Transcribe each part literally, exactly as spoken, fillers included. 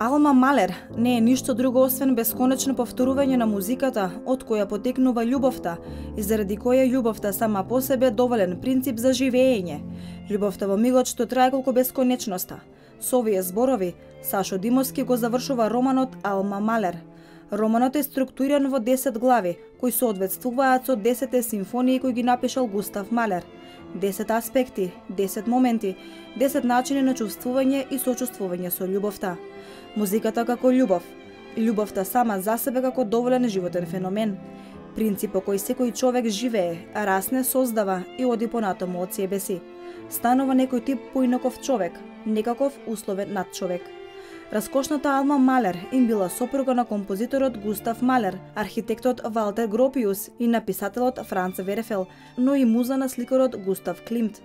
Алма Малер не е ништо друго освен бесконечно повторување на музиката од која потекнува љубовта и заради која љубовта сама по себе доволен принцип за живење. Љубовта во мигот што трае колку бесконечноста. Со овие зборови Сашо Димовски го завршува романот Алма Малер. Романот е структуриран во десет глави, кои соодветствуваат со десетте симфонии кои ги напишал Густав Малер. десет аспекти, десет моменти, десет начини на чувствување и сочувствување со љубовта. Музиката како љубов, љубовта сама за себе како доволен животен феномен, принцип по кој секој човек живее, расне, создава и оди понатаму од себе си. Станува некој тип поинаков човек, некаков условен надчовек. Раскошната Алма Малер им била сопруга на композиторот Густав Малер, архитектот Валтер Гропиус и написателот Франц Верефел, но и муза на сликарот Густав Климт.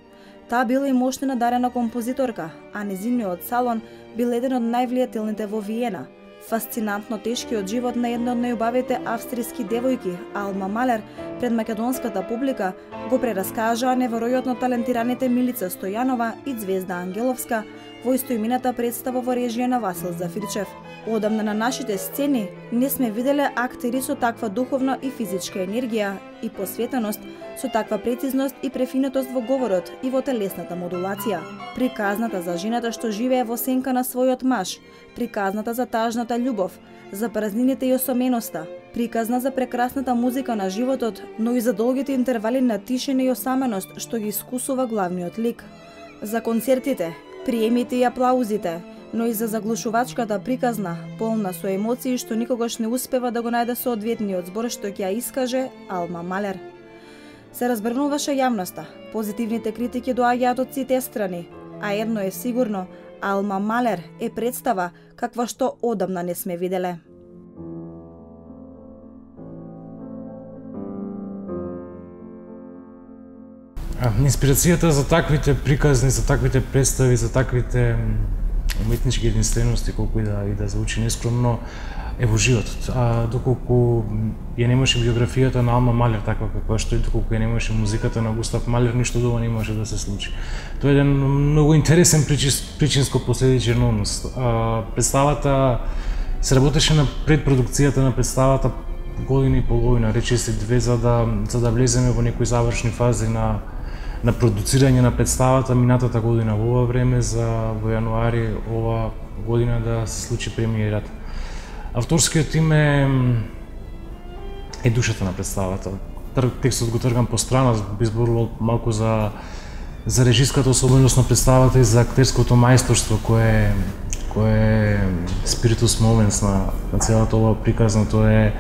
Таа била и мощна надарена композиторка, а незиниот салон бил еден од највлијателните во Виена. Фасцинантно тешкиот живот на една од најубавите австријски девојки, Алма Малер, пред македонската публика го прераскажаа неверојатно талентираните Милица Стојанова и Звезда Ангеловска во истоимената представа во режија на Васил Зафирчев. Одамна на нашите сцени не сме виделе актери со таква духовна и физичка енергија и посветеност, со таква прецизност и префинетост во говорот и во телесната модулација. Приказната за жената што живее во сенка на својот маж, приказната за тажната љубов, за празнините и осоменоста, приказна за прекрасната музика на животот, но и за долгите интервали на тишина и осаменост што ги искусува главниот лик. За концертите, приемите и аплаузите, но и за заглушувачката приказна, полна со емоции што никогаш не успева да го најде соодветниот збор што ќе ја искаже Алма Малер. Се разбрнуваше јавноста, позитивните критики доаѓаат од сите страни, а едно е сигурно, Алма Малер е представа каква што одамна не сме виделе. Инспирацијата за таквите приказни, за таквите представи, за таквите уметнички единствености, колку и да, и да звучи нескромно, е во животот. А доколку ја немаше биографијата на Алма Малер таква каква што е, доколку ја немаше музиката на Густав Малер, ништо друго не може да се случи. Тоа е еден многу интересен причинско-последичен однос. Представата се работеше на предпродукцијата на представата година и половина, речиси две, за да за да влеземе во некои завршни фази на на продуцирање на представата минатата година во ова време, за во јануари ова година да се случи премиерата. Авторскиот им е, е душата на представата. Текстот го тргам по страна, би зборувал малку за за режиската особеност на представата и за актерското мајсторство кое кое е спиритус моментс на, на целата ова приказна. Тоа е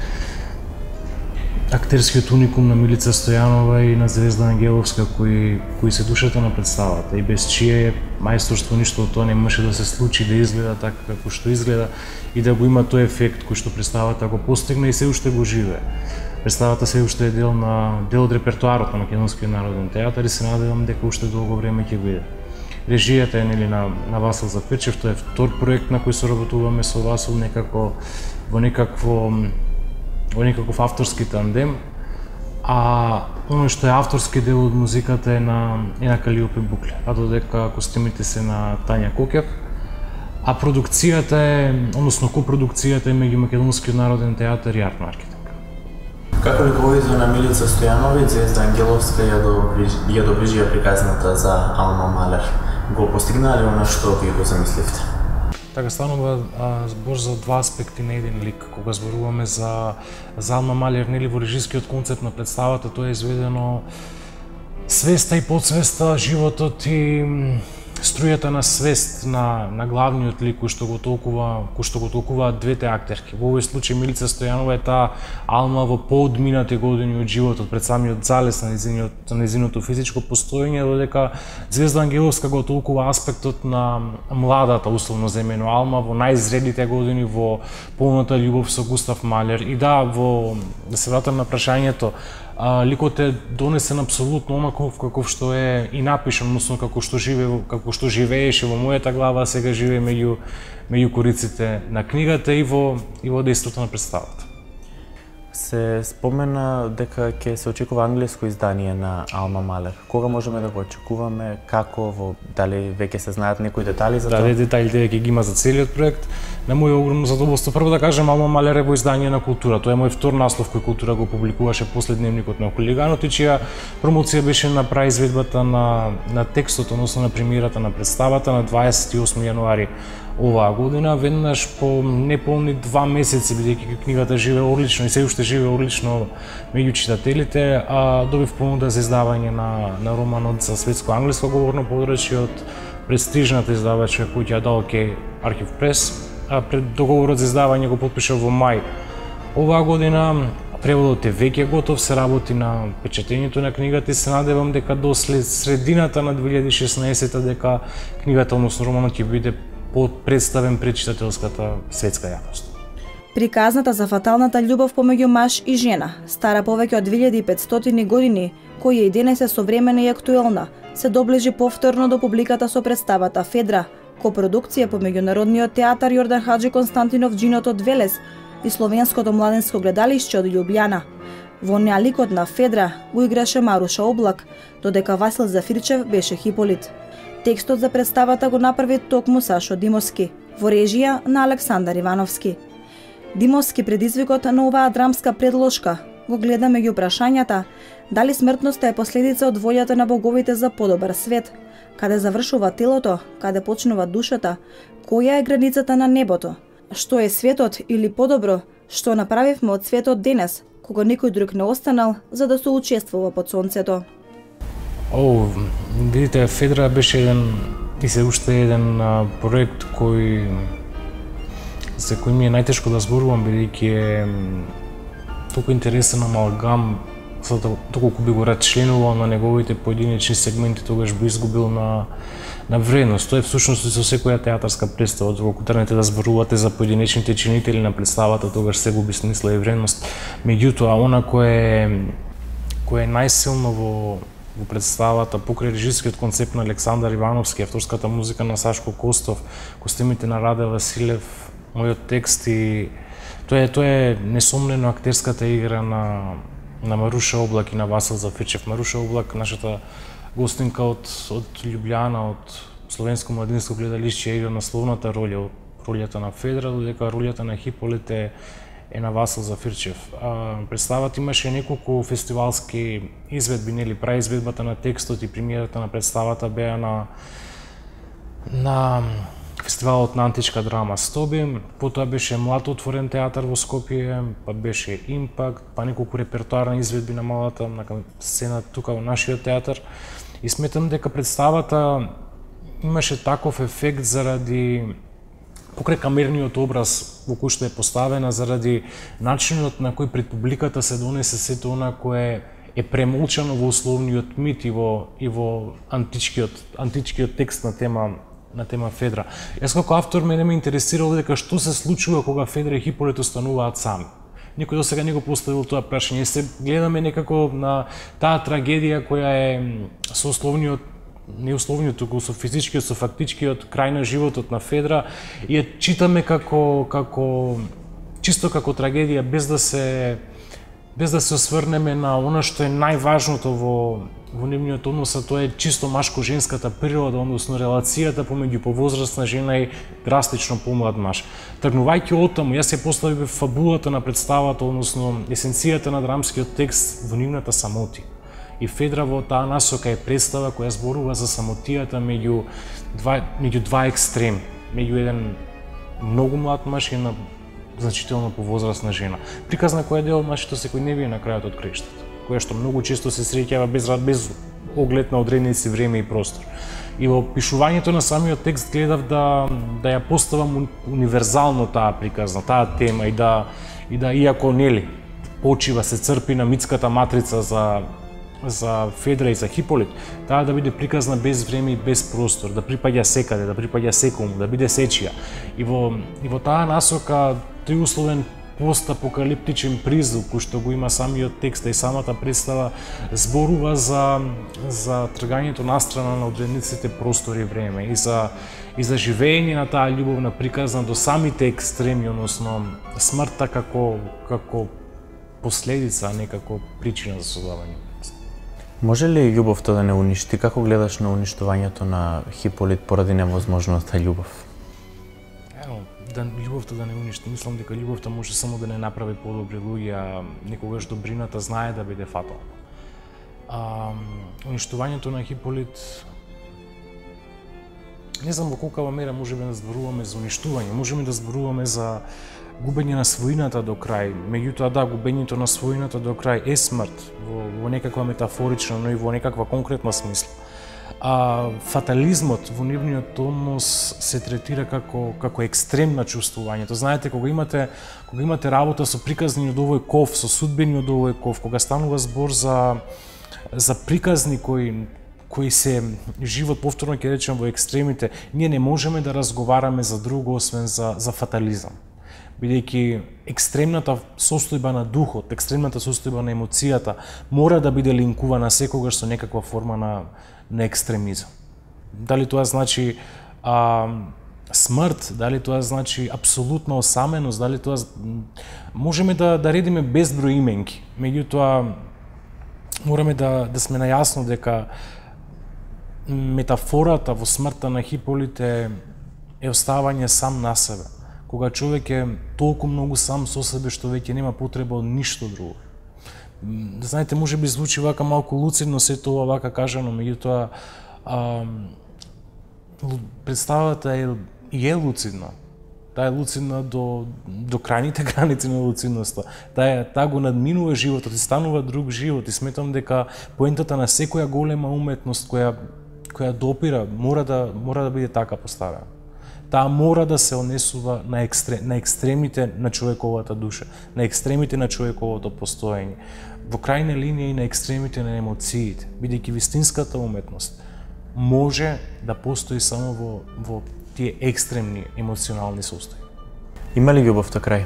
актерскиот уникум на Милица Стојанова и на Звезда Ангеловска, кои кои се душата на представата и без чие мајсторство ништо од тоа не може да се случи, да изгледа така како што изгледа и да го има тој ефект кој што представата го постигна и се уште го живее. Представата се уште е дел на дел од репертоарот на Македонскиот народен театар и се надевам дека уште долго време ќе биде. Режијата е нели на на Васил Зафирчев, тоа е втор проект на кој соработуваме со Васил некако во некакво во некаков авторски тандем, а оно што е авторски дел од музиката е на е на Калиопе Букле, а додека костимите се на Тања Кокев, а продукцијата е, односно копродукцијата е меѓу Македонскиот народен театар и Арт Маркетинг. Како рководител на Милица Стојанова и Звезда Ангеловска ја доближија, ја доближија приказната за Алма Малер, го постигнале она што ви го замисливте? Така станува а, збор за два аспекти на еден лик. Кога зборуваме за, за Алма Малер, нели во режискиот концепт на представата, тоа е изведено свеста и подсвеста, животот и струјата на свест на, на главниот лик кој што го толкува, кој што го толкуваат двете актерки. Во овој случај Милица Стојанова е таа Алма во поодминати години од животот, пред самиот залез на незиниот, на незиното физичко постоење, додека Звезда Ангеловска го толкува аспектот на младата, условно земено Алма, во најзрелите години, во полната љубов со Густав Малер. И да, во да се вратам на прашањето, А, ликот е донесен апсолутно онаков каков што е и напишан, односно како што живее, како што живееше во мојата глава, а сега живее меѓу меѓу кориците на книгата и во и во дејството на представата. Се спомена дека ќе се очекува англиско издание на Алма Малер. Кога можеме да го очекуваме, како, во, дали веќе се знаат некои детали за да, тоа? Да, деталите веќе ги има за целиот проект. На моје огромно задоволство прво да кажем Алма Малер е во издание на Култура. Тоа е мој втор наслов кој Култура го публикуваше после Дневникот на хулиганот и чија промоција беше на праизведбата на на текстот, односно на премиерата на представата на дваесет и осми јануари оваа година, веднаш по неполни два месеци, бидејќи книгата живее одлично и се уште живее одлично меѓу читателите, а добив понуда за издавање на на романот за светско англиско говорно подрачје од престижната издавачка куќа Далке Архив Прес. А пред договорот за издавање го потпишав во мај оваа година. Преводот е веќе готов, се работи на печатењето на книгата и се надевам дека до след средината на две илјади и шеснаесета дека книгата, односно романот, ќе биде представен пред читателската светска јавност. Приказната за фаталната љубов помеѓу маж и жена, стара повеќе од две илјади и петстотини години, која и денес е современа и актуелна, се доближи повторно до публиката со представата Федра, копродукција помеѓу Народниот театар Јордан Хаџи Константинов Џиното од Велес и Словенското младинско гледалиште од Љубљана. Во неа ликот на Федра го играше Маруша Облак, додека Васил Зафирчев беше Хиполит. Текстот за представата го направи токму Сашо Димовски, во режија на Александар Ивановски. Димовски предизвикот на оваа драмска предложка го гледа меѓу прашањата дали смртноста е последица од волјата на боговите за подобар свет, каде завршува телото, каде почнува душата, која е границата на небото, што е светот или подобро, што направивме од светот денес, кога никој друг не останал за да се учествува под сонцето. О, видите, Федра беше еден и се уште еден а, проект кој за кој ми е најтешко да зборувам, бидејќи е толку интересен амалгам, доколку би го рачленувал на неговите поединечни сегменти, тогаш би изгубил на на вредност. Тоа е всушност и со секоја театарска представа, доколку тргнете да зборувате за поединечните чинители на представата, тогаш се губи смисла и вредност. Меѓутоа, она кое кое е најсилно во во представата, покрај режискиот концепт на Александар Ивановски, авторската музика на Сашко Костов, костимите на Раде Василев, мојот текст и тоа е тоа е несомнено актерската игра на на Маруша Облак и на Васил Зафирчев. Маруша Облак, нашата гостинка од од Љубљана, од Словенско младинско гледалиште, игра насловната роља, ролјата на Федра, додека ролјата на Хиполит е е на Васил Зафирчев. А, представата имаше неколку фестивалски изведби, нели, праизведбата на текстот и премиерата на представата беа на на фестивалот на античка драма Стоби, потоа беше Млад отворен театар во Скопје, па беше Импакт, па неколку репертоарни изведби на малата на сцена тука во нашиот театар. И сметам дека представата имаше таков ефект заради покрај камерниот образ во кој што е поставена, заради начинот на кој пред публиката се донесе сето она кое е премолчано во условниот мит и во и во античкиот античкиот текст на тема на тема Федра. Јас како автор мене ме интересирало дека што се случува кога Федра и Хиполит остануваат сами. Никој досега не го поставил тоа прашање. Се гледаме некако на таа трагедија која е со условниот не условниот, туку со физичкиот, со фактичкиот крај на животот на Федра и ја читаме како како чисто како трагедија без да се без да се осврнеме на она што е најважното во во нивниот однос, а тоа е чисто машко-женската природа, односно релацијата помеѓу повозрасна жена и драстично помлад маж. Тргнувајќи од таму, јас се поставив фабулата на представата, односно есенцијата на драмскиот текст во нивната самоти. И Федра во таа насока е представа која зборува за самотијата меѓу два меѓу два екстреми, меѓу еден многу млад маж и една значително повозрасна жена. Приказна која е дел од нашето секојдневие на крајот од крештата, која што многу често се среќава без без оглед на одредници време и простор. И во пишувањето на самиот текст гледав да да ја поставам универзално таа приказна, таа тема и да и да иако нели почива се црпи на митската матрица за за Федра и за Хиполит, таа да биде приказна без време и без простор, да припаѓа секаде, да припаѓа секому, да биде сечија. И во и во таа насока триусловен постапокалиптичен призвук кој што го има самиот текст и самата представа зборува за за тргањето настрана на одредниците простор и време и за и за живење на таа љубовна приказна до самите екстреми, односно смртта како како последица, а не како причина за создавање. Може ли љубовта да не уништи? Како гледаш на уништувањето на Хиполит поради невозможноста љубов? Ево, да љубовта да не уништи. Мислам дека љубовта може само да не направи подобри луѓе, а некогаш добрината знае да биде фатална. А, уништувањето на Хиполит, не знам во колкава мера можеме да зборуваме за уништување, можеме да зборуваме за губење на својината до крај. Меѓутоа да, губењето на својината до крај е смрт во, во некаква метафорична, но и во некаква конкретна смисла. А фатализмот во нивниот однос се третира како како екстремна чувствувањето. Знаете, кога имате кога имате работа со приказни од овој ков, со судбени од овој ков, кога станува збор за за приказни кои кои се живот, повторно ќе речем, во екстремите, ние не можеме да разговараме за друго освен за за фатализам. Бидејќи екстремната состојба на духот, екстремната состојба на емоцијата мора да биде линкувана секогаш со некаква форма на на екстремизам. Дали тоа значи а, смрт, дали тоа значи апсолутна осаменост, дали тоа можеме да да редиме безброј именки. Меѓутоа мораме да да сме најасно дека метафората во смртта на Хиполит е, е оставање сам на себе. Кога човек е толку многу сам со себе што веќе нема потреба од ништо друго. Знаете, може би звучи вака малку луцидно се тоа вака кажано, меѓутоа представата е и е луцидна. Таа е луцидна до до крајните граници на луцидноста. Таа таа го надминува животот и станува друг живот, и сметам дека поентата на секоја голема уметност која која допира мора да мора да биде така поставена. Таа мора да се однесува на екстрем, на екстремите на човековата душа, на екстремите на човековото постоење, во крајна линија и на екстремите на емоциите, бидејќи вистинската уметност може да постои само во во тие екстремни емоционални состојби. Има ли љубовта крај?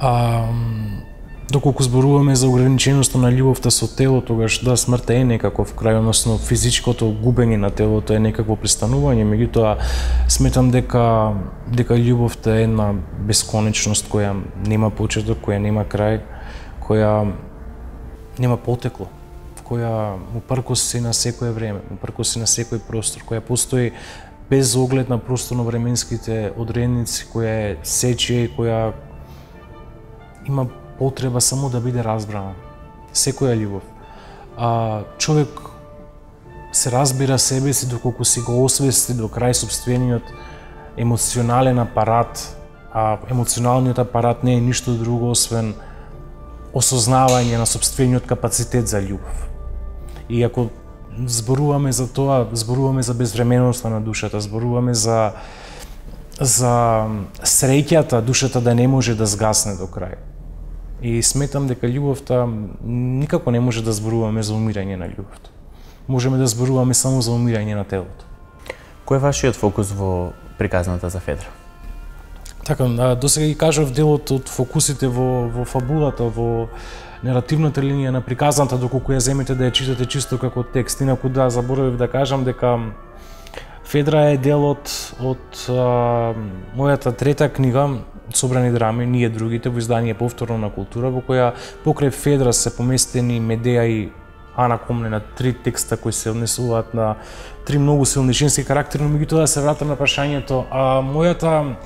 а, Доколку зборуваме за ограниченоста на љубовта со тело, тогаш да, смртта е некаков крај, односно физичкото губење на телото е некакво престанување, меѓутоа сметам дека дека љубовта е една бесконечност која нема почеток, која нема крај, која нема потекло, која упркос се на секое време, упркос се на секој простор, која постои без оглед на просторно-временските одредници, која е сечија и која има потреба само да биде разбрана. Секоја љубов. А човек се разбира себе си доколку си го освести до крај собствениот емоционален апарат, а емоционалниот апарат не е ништо друго освен осознавање на собствениот капацитет за љубов. И ако зборуваме за тоа, зборуваме за безвременоста на душата, зборуваме за за среќата душата да не може да згасне до крај. И сметам дека љубовта никако не може да зборуваме за умирање на љубовта. Можеме да зборуваме само за умирање на телото. Кој е вашиот фокус во приказната за Федра? Така, досега ги кажав делот од фокусите во во фабулата, во наративната линија на приказната, доколку ја земете да ја читате чисто како текст. Инаку да, заборавив да кажам дека Федра е дел од од а, мојата трета книга Собрани драми, ние другите, во издание Повторно на култура, во која покрај Федра се поместени Медеја и Ана Комнена, три текста кои се однесуваат на три многу силни женски карактери, но меѓутоа да се вратам на прашањето, а мојата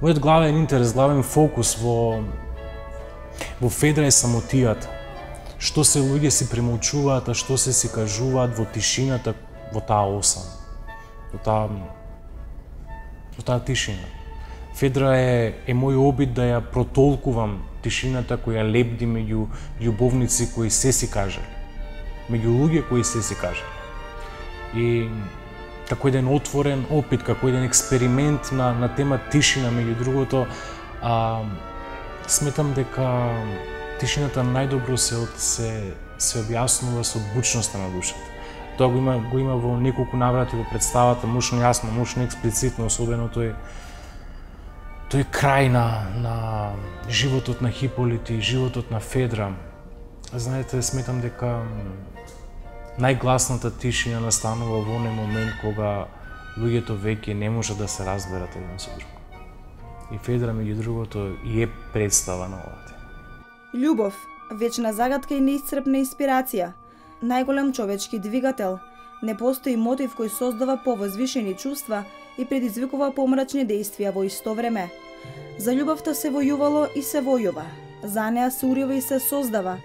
мојот главен интерес, главен фокус во во Федра е самотијата. Што се луѓе си премолчуваат, а што се си кажуваат во тишината, во таа осам. Во таа во таа тишина. Федра е, е мој обид да ја протолкувам тишината која лебди меѓу љубовници кои се си кажали, меѓу луѓе кои се си кажали. И како еден отворен опит, како еден експеримент на, на тема тишина, меѓу другото, а, сметам дека тишината најдобро се, се, се објаснува со бучноста на душата. Тоа го има, го има во неколку наврати во представата, мощно јасно, мощно експлицитно, особено тој тој крај на, на животот на Хиполит и животот на Федра. Знаете, сметам дека најгласната тишина настанува во оној момент кога луѓето веќе не може да се разберат еден со друг. И Федра, меѓу другото, и е представа на ова тема. Љубов, вечна загадка и неисцрпна инспирација, најголем човечки двигател. Не постои мотив кој создава повозвишени чувства и предизвикува помрачни действија во исто време. За љубовта се војувало и се војува. За неа се урива и се создава.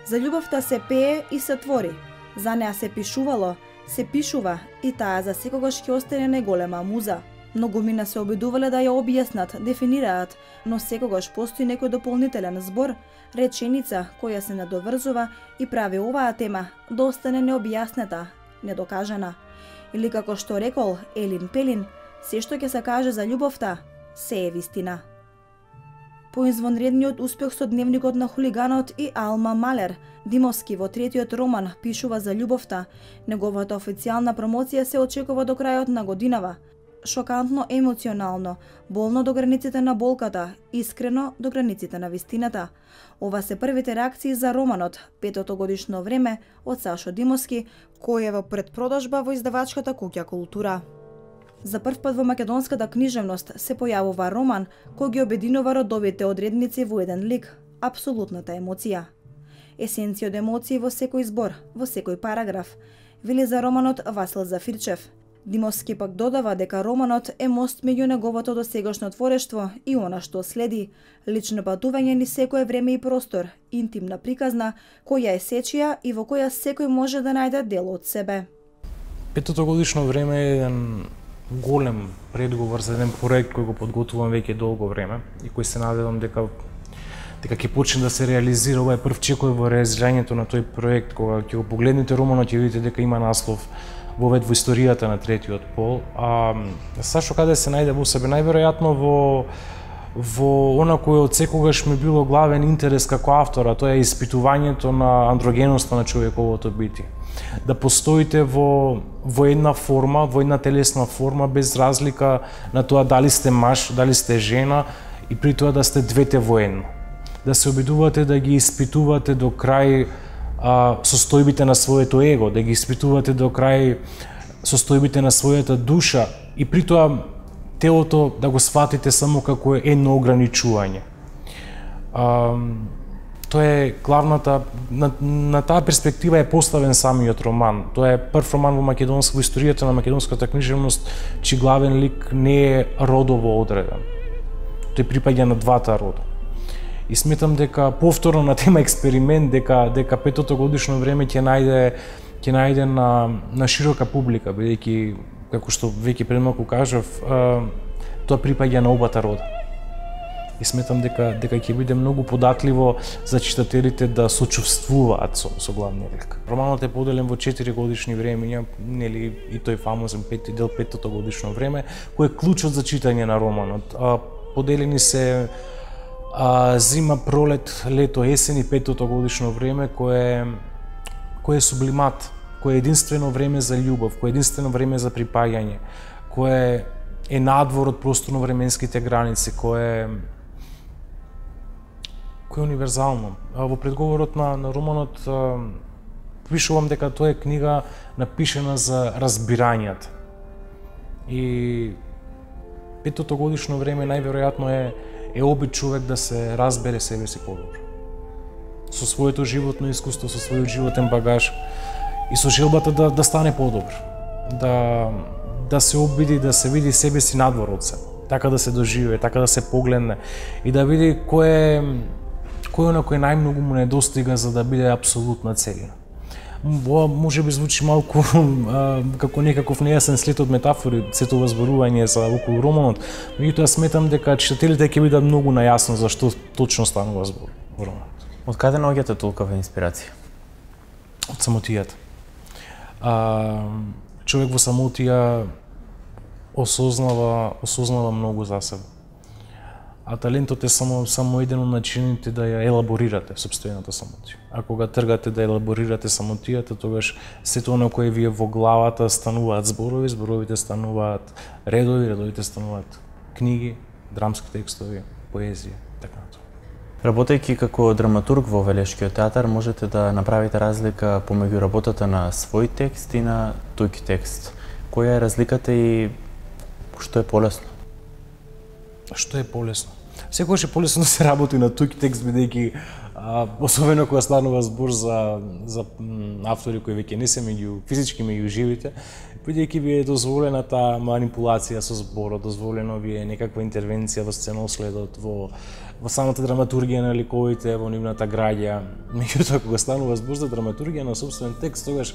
За љубовта се пее и се твори. За неа се пишувало, се пишува и таа за секогаш ќе остане најголема муза. Многумина се обидувале да ја објаснат, дефинираат, но секогаш постои некој дополнителен збор, реченица која се надоврзува и прави оваа тема да остане необјаснета, недокажана. Или како што рекол Елин Пелин, се што ќе се каже за љубовта, се е вистина. По извонредниот успех со дневникот на хулиганот и Алма Малер, Димовски во третиот роман пишува за љубовта. Неговата официјална промоција се очекува до крајот на годинава. Шокантно емоционално, болно до границите на болката, искрено до границите на вистината. Ова се првите реакции за романот Петото годишно време од Сашо Димовски, кој е во предпродажба во издавачката куќа Култура. За прв пат во македонската книжевност се појавува роман кој ги обединува родовите одредници во еден лик – апсолутната емоција. Есенција од емоции во секој збор, во секој параграф, вели за романот Васил Зафирчев. Димовски пак додава дека романот е мост меѓу неговото досегашно творештво и она што следи, лично патување низ секое време и простор, интимна приказна, која е сечија и во која секој може да најде дел од себе. Петото годишно време е еден голем предговор за еден проект кој го подготвувам веќе долго време и кој се надевам дека дека ќе почне да се реализира. Ова е прв чекор во реализирањето на тој проект. Кога ќе го погледнете романот ќе видите дека има наслов вовед во историјата на третиот пол. А Сашо каде се најде во себе? Најверојатно во во она кое од секогаш ми било главен интерес како автора, тоа е испитувањето на андрогеноста на човековото битие. Да постоите во во една форма, во една телесна форма без разлика на тоа дали сте маж, дали сте жена и при тоа да сте двете во едно. Да се обидувате да ги испитувате до крај а, состојбите на своето его, да ги испитувате до крај состојбите на својата душа и при тоа телото да го сватите само како едно ограничување. А, тоа е главната, на, на таа перспектива е поставен самиот роман. Тоа е прв роман во македонска, во историјата на македонската книжевност, чиј главен лик не е родово одреден. Тој припаѓа на двата рода. И сметам дека повторно на тема експеримент, дека дека Петото годишно време ќе најде ќе најде на на широка публика, бидејќи како што веќе пред малку кажав, тоа припаѓа на обата рода. И сметам дека дека ќе биде многу податливо за читателите да сочувствуваат со, со главниот лик. Романот е поделен во четири годишни времења, нели и тој фамозен пети дел Петото годишно време, кој е клучот за читање на романот. А, поделени се а, зима, пролет, лето, есен и Петото годишно време, кое кое е сублимат, кое е единствено време за љубов, кое е единствено време за припаѓање, кое е надвор од просторно-временските граници, кое кој е универзално. Во предговорот на, на романот пишувам дека тоа е книга напишена за разбирањата. И Петото годишно време најверојатно е е обид човек да се разбере себе си подобро. Со своето животно искуство, со својот животен багаж и со желбата да да стане подобро. Да да се обиди, да се види себе си надвор од себе. Така да се доживее, така да се погледне и да види кој е кој на кој најмногу му недостига за да биде апсолутна целина. Ова може би звучи малку а, како некаков нејасен след од метафори, сето зборување за околу романот, меѓутоа сметам дека читателите ќе бидат многу најасно за што точно станува збор во романот. Од каде наоѓате толкова инспирација? Од самотијата. А, човек во самотија осознава, осознава многу за себе. А талентот е само само еден од начините да ја елаборирате сопствената самотија. А кога тргате да елаборирате самотијата, тогаш сето оно кое ви е во главата стануваат зборови, зборовите стануваат редови, редовите стануваат книги, драмски текстови, поезија, така натаму. Работејќи како драматург во Велешкиот театар, можете да направите разлика помеѓу работата на свој текст и на туѓ текст. Која е разликата и што е полесно? Што е полесно? Секогаш е полесно да се работи на туѓ текст, бидејќи особено кога станува збор за за автори кои веќе не се меѓу физички меѓу живите, бидејќи ви е дозволена таа манипулација со зборот, дозволено ви е некаква интервенција во сценоследот, во во самата драматургија на ликовите, во нивната граѓа. Меѓутоа кога станува збор за драматургија на собствен текст, тогаш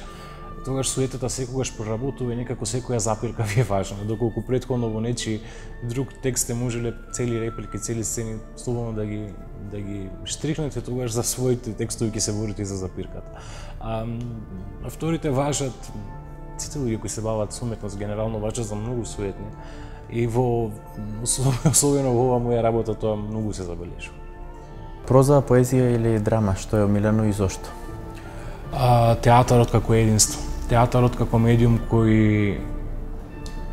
тогаш суетата секогаш проработува и некако секоја запирка ви е важна, доколку претходно во нечи друг текст сте можеле цели реплики, цели сцени слободно да ги да ги штрихнете, тогаш за своите текстови ќе се борите и за запирката. А авторите важат, сите луѓе кои се бават со уметност генерално важат за многу суетни и во особено во ова моја работа тоа многу се забележува. Проза, поезија или драма, што е омилено и зошто? А, театарот како единство. Театарот како медиум кој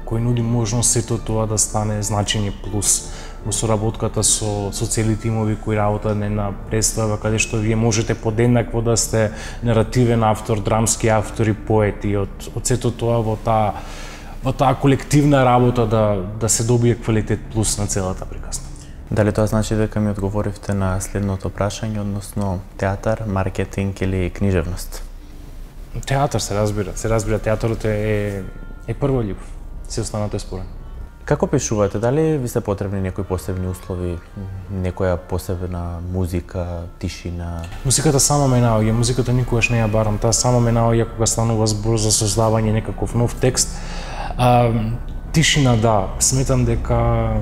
кој нуди можност сето тоа да стане значени плюс во соработката со со цели тимови кои работат на една представа каде што вие можете подеднакво да сте наративен автор, драмски автор и поет и од од сето тоа во таа во таа колективна работа да да се добие квалитет плюс на целата приказна. Дали тоа значи дека ми одговоривте на следното прашање, односно театар, маркетинг или книжевност? Театар се разбира, се разбира театарот е е, е прва љубов. Се останато е спорен. Како пишувате? Дали ви се потребни некои посебни услови, некоја посебна музика, тишина? Музиката само ме наоѓа, музиката никогаш не ја барам, таа само ме наоѓа кога станува збор за создавање некаков нов текст. А, тишина да, сметам дека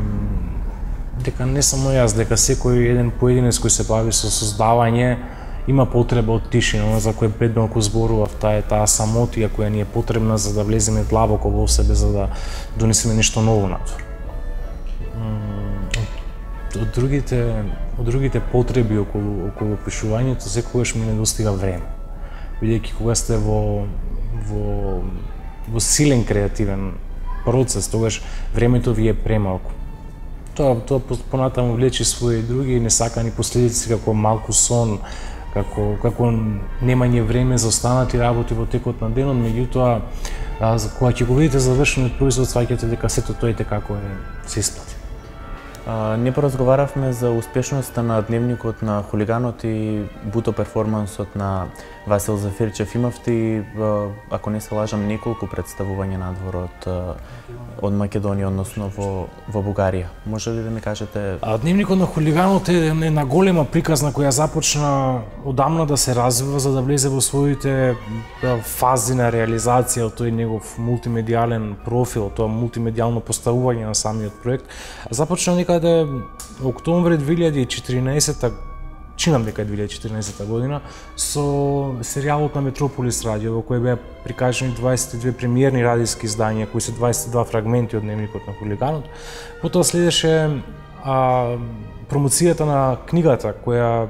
дека не само јас, дека секој еден поединец кој се бави со создавање има потреба од тишина, за која пред малку зборував, таа е таа самотија која ни е потребна за да влеземе длабоко во себе, за да донесеме нешто ново надвор. Од другите, од другите потреби околу околу пишувањето секогаш ми недостига време. Бидејќи кога сте во во во силен креативен процес, тогаш времето ви е премалку. Тоа тоа понатаму влече своји други несакани последици како малку сон, како како немање време за останати работи во текот на денот, меѓутоа кога ќе го видите завршениот производ, сваќате дека сето тоа е како е се исплати. А, ние поразговаравме за успешноста на дневникот на хулиганот и буто перформансот на Васил Зафирчев. Имавте, ако не се лажам, неколку представувања надвор од, од Македонија, односно во, во Бугарија. Може ли да ми кажете? А, дневникот на хулиганот е една голема приказна која започна одамна да се развива за да влезе во своите фази на реализација од тој негов мултимедијален профил, тоа мултимедијално поставување на самиот проект. Започна некаде октомври две илјади и четиринаесета, чинам дека е две илјади и четиринаесета година, со серијалот на Метрополис радио, во кој беа прикажани дваесет и две премиерни радиски издања, кои се дваесет и два фрагменти од дневникот на хулиганот. Потоа следеше а, промоцијата на книгата, која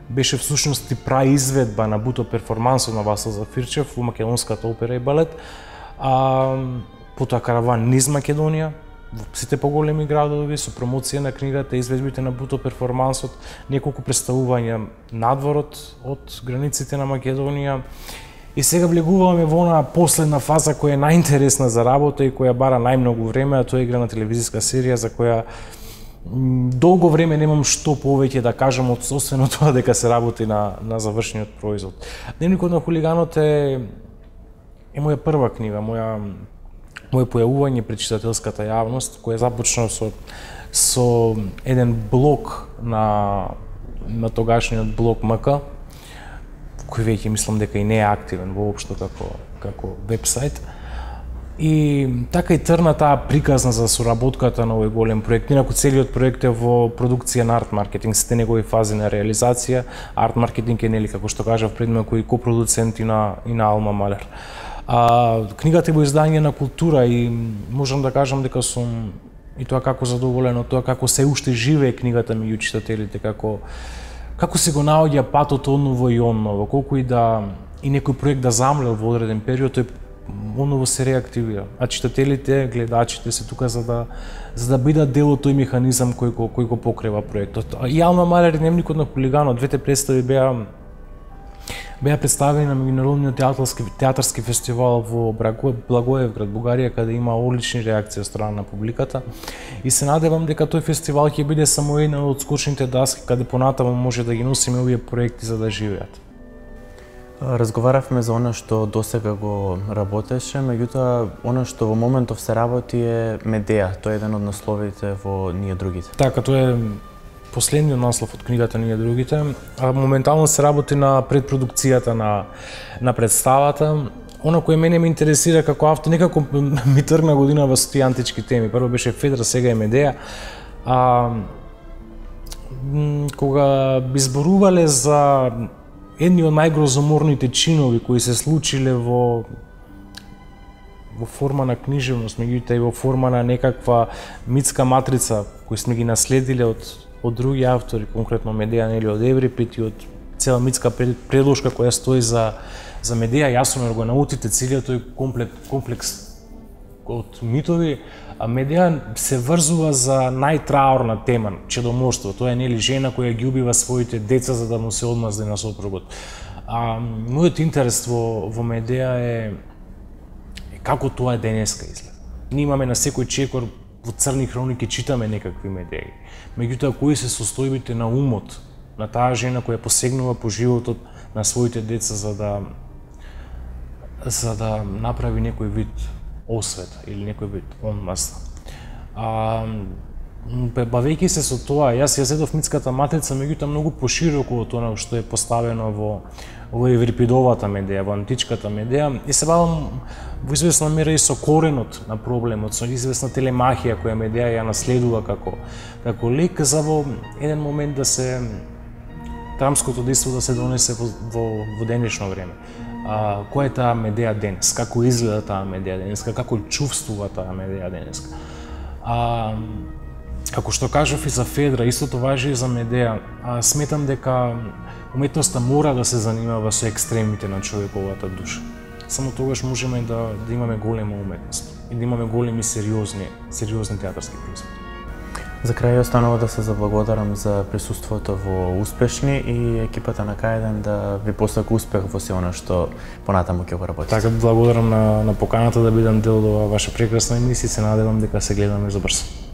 беше всушност и праизведба на буто перформансот на Васил Зафирчев во македонската опера и балет. А, потоа караван низ Македонија, во сите поголеми градови со промоција на книгата, изведбите на буто перформансот, неколку представувања надворот од границите на Македонија. И сега влегуваме во онаа последна фаза која е најинтересна за работа и која бара најмногу време, а тоа е игра на телевизиска серија за која долго време немам што повеќе да кажам од освен тоа дека се работи на на завршениот производ. Дневникот на хулиганот е е моја прва книга, моја моје појавување пред читателската јавност, која започна со со еден блог на на тогашниот блог МК, кој веќе мислам дека и не е активен воопшто како како вебсайт. И така и трна таа приказна за соработката на овој голем проект. Инаку целиот проект е во продукција на арт маркетинг, сите негови фази на реализација. Арт маркетинг е нели како што кажав пред малку и копродуцент и на и на Алма Малер. А, книгата е во издање на култура и можам да кажам дека сум и тоа како задоволен од тоа како се уште живее книгата меѓу читателите, како како се го наоѓа патот онново и онново, колку и да и некој проект да замлел во одреден период, тој онново се реактивира. А читателите, гледачите се тука за да за да бидат дел од тој механизам кој го кој го покрива проектот. И Алма Малер и Дневникот на хулиганот, двете представи беа беа представени на меѓународниот театарски театарски фестивал во Благоевград, Бугарија, каде има одлични реакции од страна на публиката. И се надевам дека тој фестивал ќе биде само една од скочните даски каде понатаму може да ги носиме овие проекти за да живеат. Разговаравме за она што досега го работеше, меѓутоа она што во моментов се работи е Медеја. Тоа е еден од насловите во Ние другите. Така, тоа е последниот наслов од книгата Ние другите. А моментално се работи на предпродукцијата на на представата. Она кое мене ме интересира како автор, некако ми тргна годинава со тие антички теми. Прво беше Федра, сега е Медеја. А кога би зборувале за едни од најгрозоморните чинови кои се случиле во во форма на книжевност, меѓутоа и во форма на некаква митска матрица кои сме ги наследиле од од други автори, конкретно Медеја нели од Еврипид и од цела митска предложка која стои за за Медеја, Јасомир го наутите целиот тој комплект комплекс од митови, а Медеја се врзува за најтраорна тема, чедоморство. Тоа е нели жена која ги убива своите деца за да му се одмазне на сопругот. А мојот интерес во во Медеја е, е како тоа денеска изгледа. Ние имаме на секој чекор во црни хроники читаме некакви Медеи. Меѓутоа кои се состојбите на умот на таа жена која посегнува по животот на своите деца за да за да направи некој вид освета или некој вид омраза. А бавејќи се со тоа, јас ја зедов митската матрица, меѓутоа многу пошироко од она што е поставено во во Еврипидовата Медеја, во античката Медеја, и се бавам во известна мера и со коренот на проблемот, со известна телемахија која Медеја ја наследува како како лик, за во еден момент да се драмското дејство да се донесе во во, во денешно време. А, која е таа Медеја денес? Како изгледа таа Медеја денеска? Како чувствува таа Медеја денеска? А, како што кажав и за Федра, истото важи и за Медеја. А, сметам дека уметноста мора да се занимава со екстремите на човековата душа. Само тогаш можеме да, да имаме голема уметност и да имаме големи сериозни, сериозни театарски производи. За крај останува да се заблагодарам за присуството во Успешни и екипата на К еден да ви посака успех во се она што понатаму ќе го работите. Така, благодарам на, на поканата да бидам дел од оваа ваша прекрасна емисија и се надевам дека се гледаме за брзо.